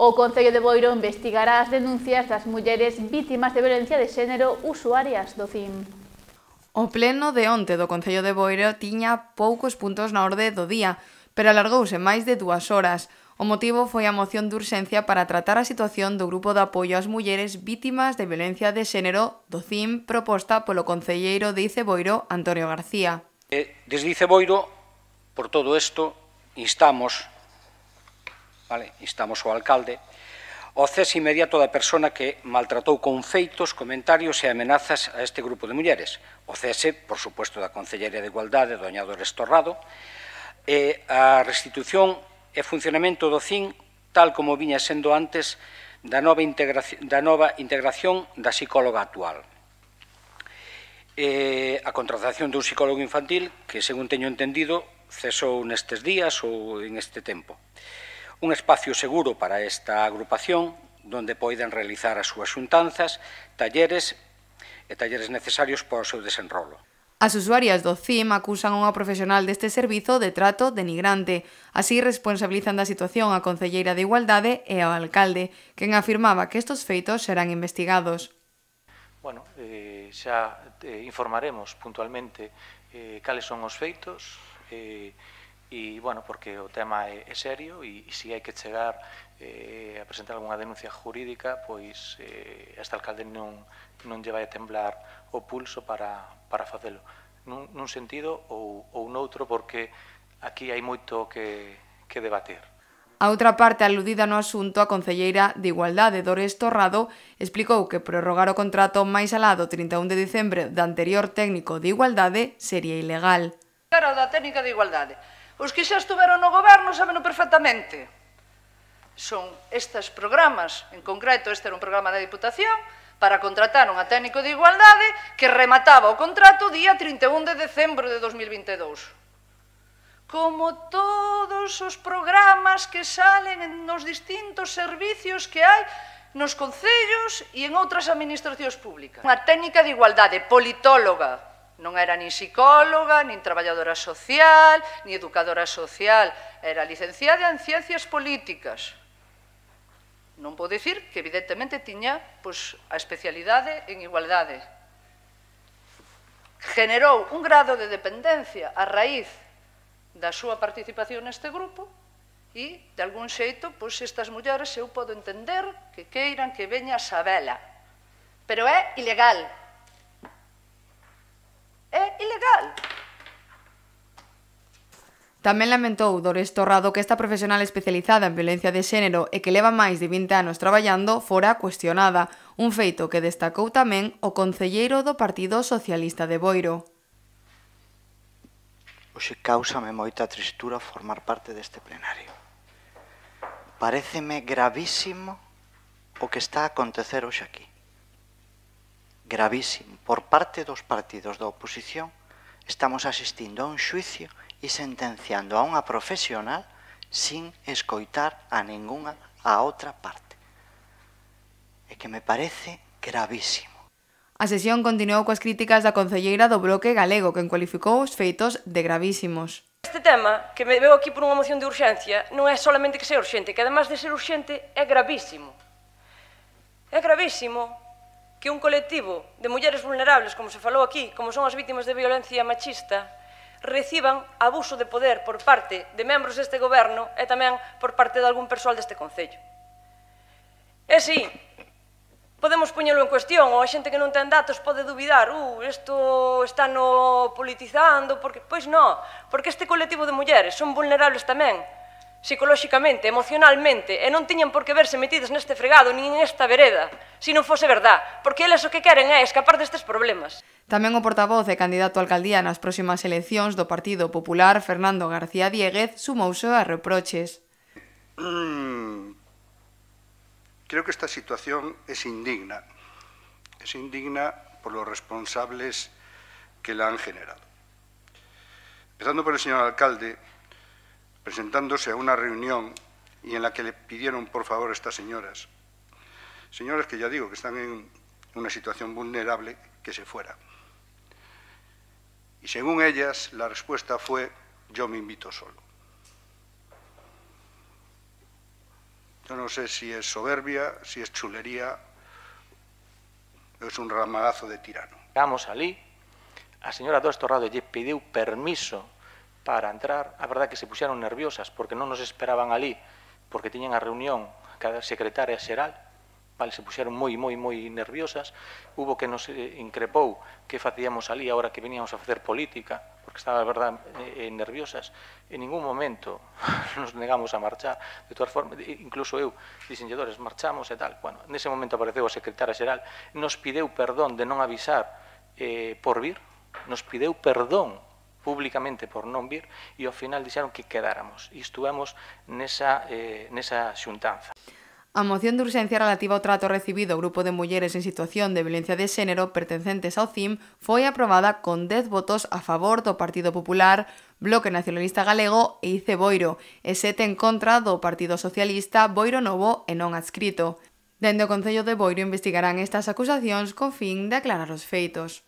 O Concello de Boiro investigará as denuncias das mulleres vítimas de violencia de xénero usuarias do CIM. O pleno de onte do Concello de Boiro tiña poucos puntos na orde do día, pero alargouse máis de 2 horas. O motivo foi a moción de urxencia para tratar a situación do Grupo de Apoio ás Mulleres Vítimas de Violencia de Xénero do CIM proposta polo concelleiro de Iceboiro, Antonio García. Desde Iceboiro, por todo isto, instamos ao alcalde ao cese inmediato da persona que maltratou con feitos, comentarios e amenazas a este grupo de mulleres. O cese, por suposto, da Concelleira de Igualdade, doña Dores Torrado, e a restitución e funcionamento do CIM tal como viña sendo antes da nova integración da psicóloga actual. A contratación dun psicólogo infantil que, según teño entendido, cesou nestes días ou en este tempo. Un espacio seguro para esta agrupación donde poidan realizar as súas xuntanzas, talleres necesarios para o seu desenrolo. As usuarias do CIM acusan a unha profesional deste servizo de trato denigrante. Así responsabilizan da situación a concelleira de Igualdade e ao alcalde, quen afirmaba que estes feitos serán investigados. Bueno, xa informaremos puntualmente cales son os feitos e, bueno, porque o tema é serio e se hai que chegar a presentar algunha denuncia jurídica, pois este alcalde non lle vai a temblar o pulso para facelo, nun sentido ou noutro, porque aquí hai moito que debater. A outra parte aludida no asunto, a concelleira de Igualdade, Dores Torrado, explicou que prorrogar o contrato máis alá do 31 de diciembre do anterior técnico de Igualdade sería ilegal. Cara da técnica de Igualdade. Os que xa estuveron no goberno sabeno perfectamente. Son estes programas, en concreto este era un programa da Diputación, para contratar unha técnico de Igualdade que remataba o contrato día 31 de decembro de 2022. Como todos os programas que salen nos distintos servicios que hai nos concellos e en outras administracións públicas. Unha técnica de Igualdade, politóloga, non era nin psicóloga, nin traballadora social, nin educadora social, era licenciada en Ciencias Políticas. Non vou dicir que evidentemente tiña a especialidade en Igualdade. Generou un grado de dependencia a raíz da súa participación neste grupo e, de algún xeito, estas mulleres eu podo entender que queiran que veña a sabela. Pero é ilegal. É ilegal. Tamén lamentou Dores Torrado que esta profesional especializada en violencia de xénero e que leva máis de 20 anos traballando fora cuestionada, un feito que destacou tamén o concelleiro do Partido Socialista de Boiro. Hoxe cáusame moita tristura formar parte deste plenario. Paréceme gravísimo o que está a acontecer hoxe aquí. Gravísimo. Por parte dos partidos da oposición estamos asistindo a un xuicio e sentenciando a unha profesional sin escoitar a ningunha a outra parte. É que me parece gravísimo. A sesión continuou coas críticas da concelleira do Bloque Galego, quen cualificou os feitos de gravísimos. Este tema, que me veo aquí por unha moción de urxencia, non é solamente que sea urxente, que además de ser urxente, é gravísimo. É gravísimo que un colectivo de mulleres vulnerables, como se falou aquí, como son as vítimas de violencia machista, reciban abuso de poder por parte de membros deste goberno e tamén por parte de algún persoal deste concello. E si podemos poñelo en cuestión, ou a xente que non ten datos pode dubidar, isto está no politizando, porque pois non, porque este colectivo de mulleres son vulnerables tamén, psicolóxicamente, emocionalmente, e non tiñan por que verse metidas neste fregado, nin nesta vereda, se non fose verdad, porque eles o que queren é escapar destes problemas. Tamén o portavoz e candidato a alcaldía nas próximas eleccións do Partido Popular, Fernando García Diéguez, sumouse a reproches. Creo que esta situación es indigna. Es indigna por los responsables que la han generado. Empezando por el señor alcalde, presentándose a una reunión y en la que le pidieron por favor a estas señoras que ya digo que están en una situación vulnerable, que se fueran. Y según ellas, la respuesta fue: yo me invito solo. Yo no sé si es soberbia, si es chulería, o es un ramagazo de tirano. Chegamos ali, a señora Dores Torrado lle pediu permiso para entrar. A verdade que se puxeron nerviosas porque non nos esperaban ali, porque tiñan a reunión cada secretaria xeral, vale, se puxeron moi nerviosas. Hubo que nos increpou que facíamos ali ahora que veníamos a facer política, porque estaba, a verdade, nerviosas. En ningún momento nos negamos a marchar. De todas formas, incluso eu, diseñadores, marchamos e tal. Bueno, nese momento apareceu a secretaria xeral, nos pideu perdón de non avisar por vir, nos pideu perdón públicamente por non vir, e ao final dixeron que quedáramos. E estuvemos nesa xuntanza. A moción de urxencia relativa ao trato recibido ao grupo de mulleres en situación de violencia de xénero pertencentes ao CIM foi aprobada con 10 votos a favor do Partido Popular, Bloque Nacionalista Galego e ICE Boiro, e 7 en contra do Partido Socialista, Boiro Novo e non adscrito. Dende o Concello de Boiro investigarán estas acusacións co fin de aclarar os feitos.